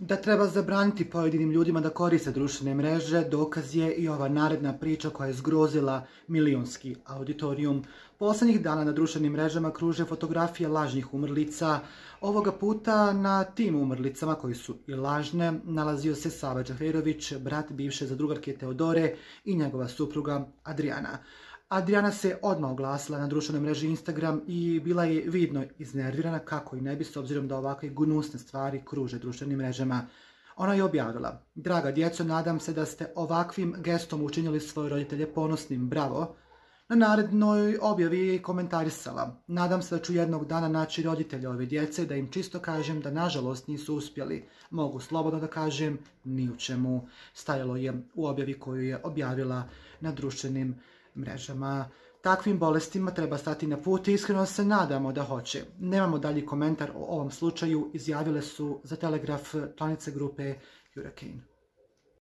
Da treba zabraniti pojedinim ljudima da koriste društvene mreže, dokaz je i ova naredna priča koja je zgrozila milionski auditorijum. Poslednjih dana na društvenim mrežama kruže fotografije lažnih umrlica. Ovoga puta na tim umrlicama, koji su i lažne, nalazio se Sava Džaferović, brat bivše zadrugarke Teodore i njegova supruga Adriana. Adriana se odmah oglasila na društvenoj mreži Instagram i bila je vidno iznervirana, kako i ne bi, s obzirom da ovakve gnusne stvari kruže društvenim mrežama. Ona je objavila: "Draga djeco, nadam se da ste ovakvim gestom učinili svoje roditelje ponosnim, bravo." Na narednoj objavi je komentarisala: "Nadam se da ću jednog dana naći roditelja ove djece, da im čisto kažem da nažalost nisu uspjeli. Mogu slobodno da kažem, ni u čemu." Stajalo je u objavi koju je objavila na društvenim mrežama. Takvim bolestima treba stati na put i iskreno se nadamo da hoće. Nemamo dalji komentar o ovom slučaju, izjavile su za Telegraf članice grupe Hurricane.